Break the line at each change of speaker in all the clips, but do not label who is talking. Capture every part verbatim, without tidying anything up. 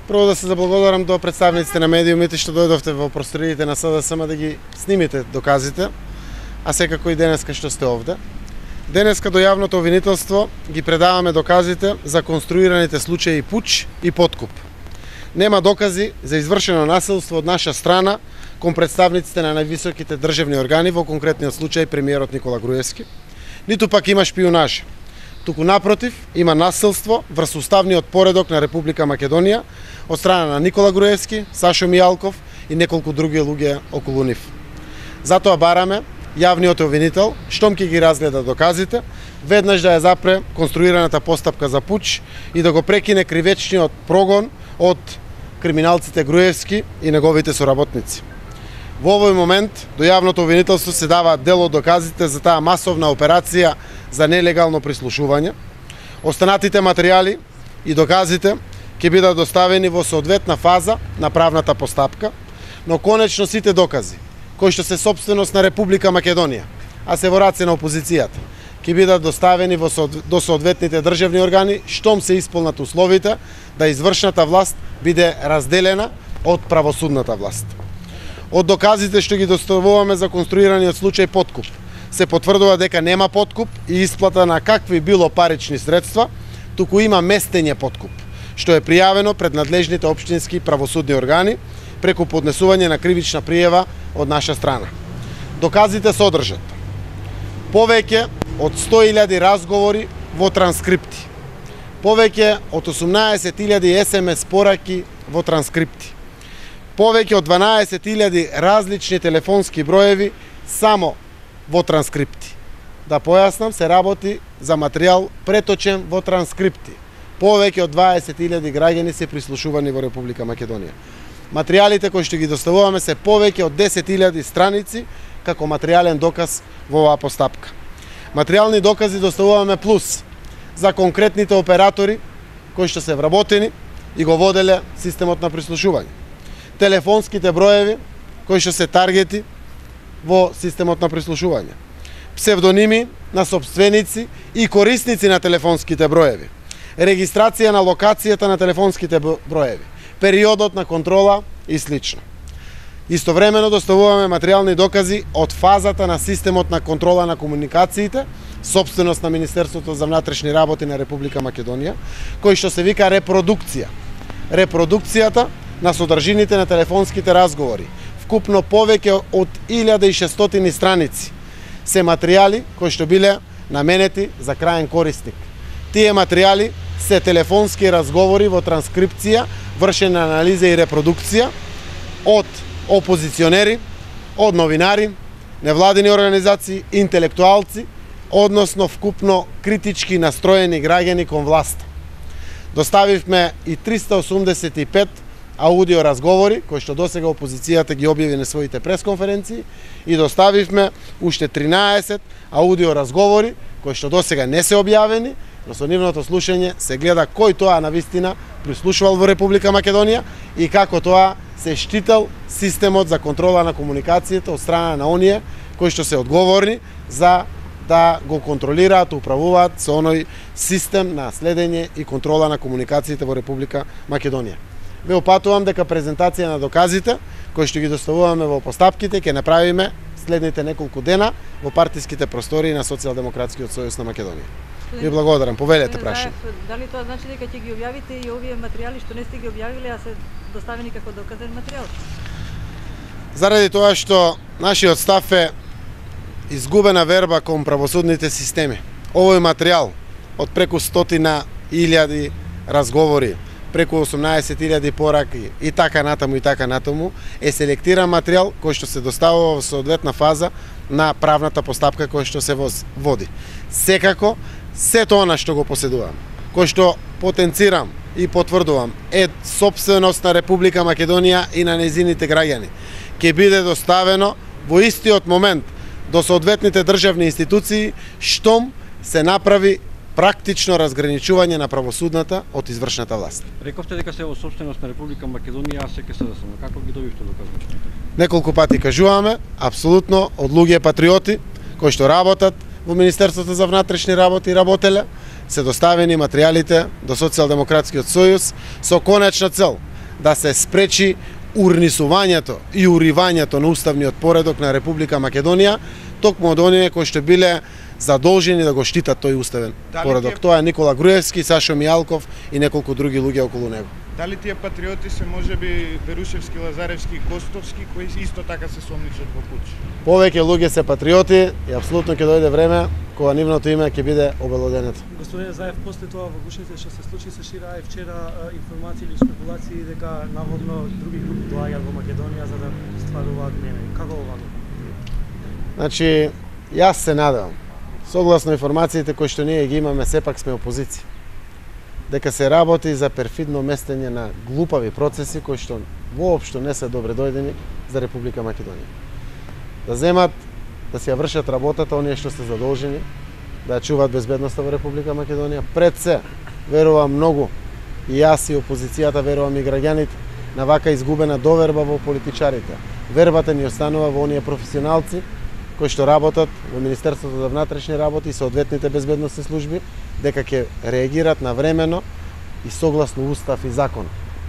Прво да се заблагодарам до представниците на медиумите што дојдовте во просториите на СДСМ да ги снимите доказите, а секако и денеска што сте овде. Денеска до јавното обвинителство ги предаваме доказите за конструираните случаи пуч и подкуп. Нема докази за извршено насилство од наша страна кон представниците на највисоките државни органи, во конкретниот случај премиерот Никола Груевски, ниту пак има шпионажа. Туку напротив, има насилство врз уставниот поредок на Република Македонија од страна на Никола Груевски, Сашо Мијалков и неколку други луѓе околу нив. Затоа бараме јавниот обвинител, штом ќе ги разгледа доказите, веднаш да ја запре конструираната постапка за пуч и да го прекине кривечниот прогон од криминалците Груевски и неговите соработници. Во овој момент до јавното обвинителство се даваат дел од доказите за таа масовна операција за нелегално прислушување. Останатите материјали и доказите ќе бидат доставени во соодветна фаза на правната постапка, но конечно сите докази кои што се сопственост на Република Македонија, а се во раце на опозицијата, ќе бидат доставени во до соодветните државни органи, штом се исполнат условите да извршната власт биде разделена од правосудната власт. Од доказите што ги доставуваме за конструираниот случај подкуп, се потврдува дека нема подкуп и исплата на какви било парични средства, туку има местење подкуп, што е пријавено пред надлежните општински правосудни органи преку поднесување на кривична пријава од наша страна. Доказите содржат повеќе од сто илјади разговори во транскрипти, повеќе од осумнаесет илјади ес ем ес пораки во транскрипти, повеќе од дванаесет илјади различни телефонски броеви само во транскрипти. Да појаснам, се работи за материјал преточен во транскрипти. Повеќе од дваесет илјади граѓани се прислушувани во Република Македонија. Материјалите кои што ги доставуваме се повеќе од десет илјади страници како материјален доказ во оваа постапка. Материјални докази доставуваме плюс за конкретните оператори кои што се вработени и го воделе системот на прислушување. Телефонските броеви кои што се таргети во системот на прислушување. Псевдоними на сопственици и корисници на телефонските броеви. Регистрација на локацијата на телефонските броеви. Периодот на контрола и слично. Истовремено доставуваме материјални докази од фазата на системот на контрола на комуникациите, сопственост на Министерството за внатрешни работи на Република Македонија, кој што се вика репродукција. Репродукцијата на содржините на телефонските разговори, вкупно повеќе од илјада и шестстотини страници, се материјали кои што биле наменети за краен корисник. Тие материјали се телефонски разговори во транскрипција, вршена анализа и репродукција од опозиционери, од новинари, невладини организации, интелектуалци, односно вкупно критички настроени граѓани кон власта. Доставивме и триста осумдесет и пет аудио разговори, кои што досега опозицијата ги објави на своите пресконференции, и доставивме уште тринаесет аудио разговори, кои што досега не се објавени, но со нивното слушање се гледа кој тоа навистина прислушувал во Република Македонија и како тоа се штител системот за контрола на комуникацијата од страна на оние кои што се одговорни за да го контролираат, управуваат со оној систем на следење и контрола на комуникациите во Република Македонија. Ве опатувам дека презентација на доказите кои што ги доставуваме во постапките ќе направиме следните неколку дена во партиските простории на Социјалдемократскиот сојуз на Македонија. Ви благодарам, повелете прашање.
Дали тоа значи дека ќе ги објавите и овие материјали што не сте ги објавиле, а се доставени како доказен материјал?
Заради тоа што нашиот став е изгубена верба кон правосудните системи. Овој материјал од преку стотина илјади разговори, преку осумнаесет илјади пораки и така натаму и така натаму е селектиран материјал кој што се доставува во соодветна фаза на правната постапка која што се води. Секако сето она што го поседувам, кој што потенцирам и потврдувам е сопственост на Република Македонија и на нејзините граѓани, ќе биде доставено во истиот момент до соодветните државни институции штом се направи практично разграничување на правосудната од извршната власт.
Рековте дека се во сопственост на Република Македонија, а се ке се да само. Како ги добивте доказите?
Неколку пати кажуваме, апсолутно од луѓе патриоти кои што работат во Министерството за внатрешни работи работеле, се доставени материјалите до Социјалдемократскиот сојуз со конечна цел да се спречи урнисувањето и уривањето на уставниот поредок на Република Македонија, токму од оние кои што биле задолжени да го штитат тој уставен
Дали
поредок.
тие...
Тоа е Никола Груевски, Сашо Мијалков и неколку други луѓе околу него.
Дали тие патриоти се можеби Берушевски, Лазаревски и Костовски, кои исто така се сомничат во пуч?
Повеќе луѓе се патриоти и апсолутно ќе дојде време кога нивното име ќе биде обелоденето.
Господине Заев, после тоа во гушните што се случи се шира и вчера информации или спекулации дека наводно други групи доаѓаат во Македонија за да стваруваат мене. Како ова?
Значи, јас се надевам, согласно информациите кои што ние ги имаме, сепак сме опозиција, дека се работи за перфидно местење на глупави процеси кои што воопшто не се добре дојдени за Република Македонија. Да земат, да си ја вршат работата оние што се задолжени, да ја чуваат безбедноста во Република Македонија. Пред се, верувам многу, и јас и опозицијата, верувам и граѓаните, на вака изгубена доверба во политичарите. Вербата ни останува во оние професионалци кои што работат во Министерството за внатрешни работи и соодветните безбедносни служби, дека ќе реагират навремено и согласно устав и закон,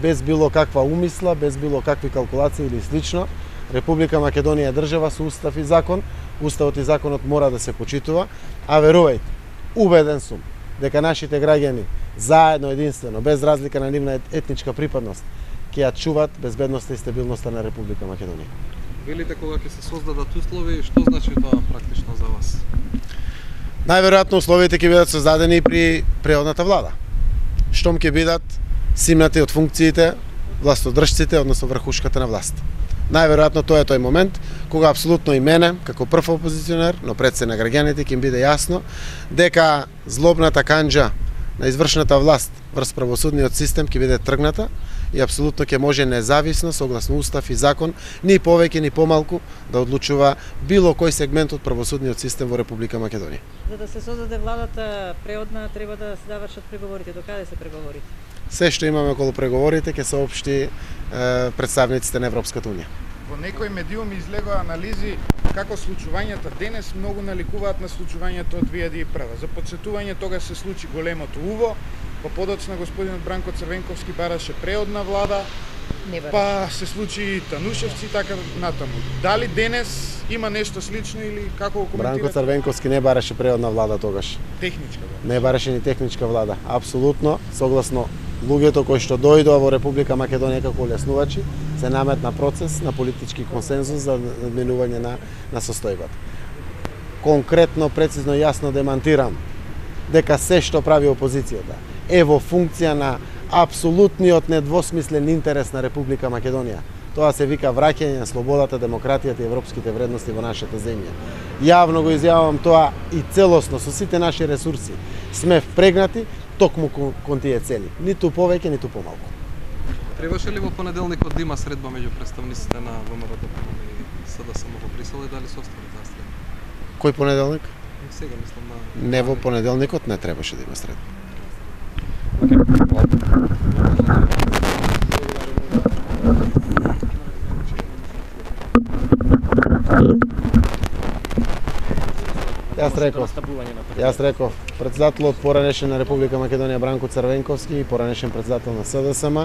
без било каква умисла, без било какви калкулации или слично. Република Македонија е држава со устав и закон, уставот и законот мора да се почитува, а верувајте, убеден сум дека нашите граѓани заедно, единствено, без разлика на нивна етничка припадност, ќе ја чуваат безбедноста и стабилноста на Република Македонија.
Велите кога ќе се создадат услови, што значи тоа практично за вас?
Најверојатно условите ќе бидат создадени и при преходната влада. Штом ќе бидат симнати од функциите властодржците, односно врхушката на власт. Најверојатно тоа е тој момент кога апсолутно и мене, како прв опозиционер, но пред се на граѓаните ќе им биде јасно дека злобната канџа на извршната власт врз правосудниот систем ќе биде тргната и апсолутно ќе може независно, согласно устав и закон, ни повеќе ни помалку да одлучува било кој сегмент од правосудниот систем во Република Македонија.
За да се создаде владата преодна, треба да се завршат преговорите. До каде се преговорите?
Се што имаме околу преговорите ќе соопшти е, представниците на Европската унија.
Во некои медиуми излегоа анализи како случувањата денес многу наликуваат на случувањето од две илјади и прва. За потсетување, тога се случи големото уво, па подоцна господинот Бранко Црвенковски бараше преодна влада, па се случи и Танушевци и така натаму. Дали денес има нешто слично или како го коментирате?
Бранко Црвенковски не бараше преодна влада тогаш.
Техничка влада.
Не бараше ни техничка влада. Апсолутно, согласно луѓето кои што дојдоа во Република Македонија како олеснувачи, се наметна процес на политички консензус за надминување на, на состојбата. Конкретно, прецизно и јасно демантирам дека се што прави опозицијата е во функција на апсолутниот недвосмислен интерес на Република Македонија. Тоа се вика враќање на слободата, демократијата и европските вредности во нашата земја. Јавно го изјавувам тоа и целосно со сите наши ресурси сме впрегнати токму кон тие цели, ниту повеќе, ниту помалку.
Требаше ли во понеделникот да има средба меѓу представниците на ВМРО и СДСМ во Брисел и дали се остави таа средба?
Кој понеделник?
Сега мислам на...
Не, во понеделникот не требаше да има средба. Јас реков, јас реков, председателот поранешен на Република Македонија Бранко Црвенковски и поранешен председател на СДСМ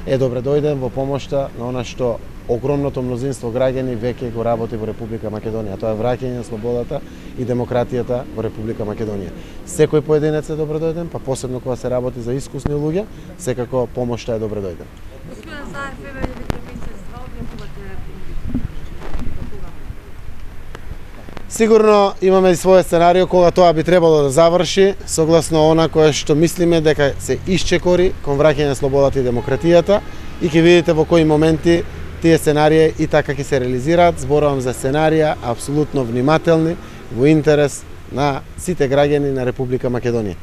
е добре дојден во помошта на она што огромното мнозинство граѓани веќе го работи во Република Македонија. Тоа е враќање на слободата и демократијата во Република Македонија. Секој поединец е добре дојден, па посебно кога се работи за искусни луѓе, секако помошта е добре дојден.
Господин Заев, еве месец два објавувате
Сигурно имаме и своје сценарио кога тоа би требало да заврши, согласно она кое што мислиме дека се исчекори кон враќање на слободата и демократијата и ќе видите во кои моменти тие сценарии и така ќе се реализираат. Зборувам за сценарија апсолутно внимателни во интерес на сите граѓани на Република Македонија.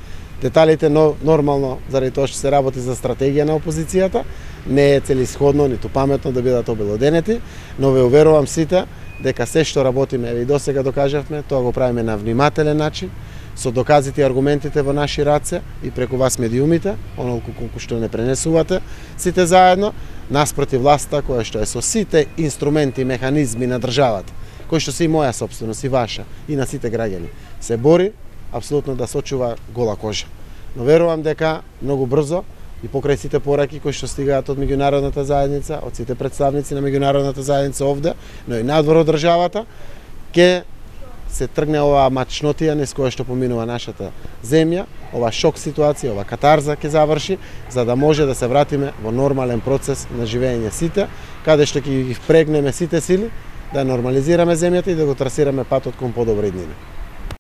Деталите, но нормално, заради тоа што се работи за стратегија на опозицијата, не е целисходно ниту паметно да бидат обелоденети, но ве уверувам сите дека се што работиме, еве и досега докажавме, тоа го правиме на внимателен начин, со доказите и аргументите во наши раце и преку вас медиумите, онолку колку што не пренесувате сите заедно, наспроти власта која што е со сите инструменти и механизми на државата, кои што се и моја сопственост и ваша и на сите граѓани, се бори апсолутно да сочува гола кожа. Но верувам дека многу брзо и покрај сите пораки кои што стигаат од меѓународната заедница, од сите представници на меѓународната заедница овде, но и надвор од државата, ќе се тргне оваа мачнотија низ која што поминува нашата земја, ова шок ситуација, ова катарза ќе заврши, за да може да се вратиме во нормален процес на живење сите, каде што ќе ги впрегнеме сите сили, да нормализираме земјата и да го трасираме патот кон подобри иднини.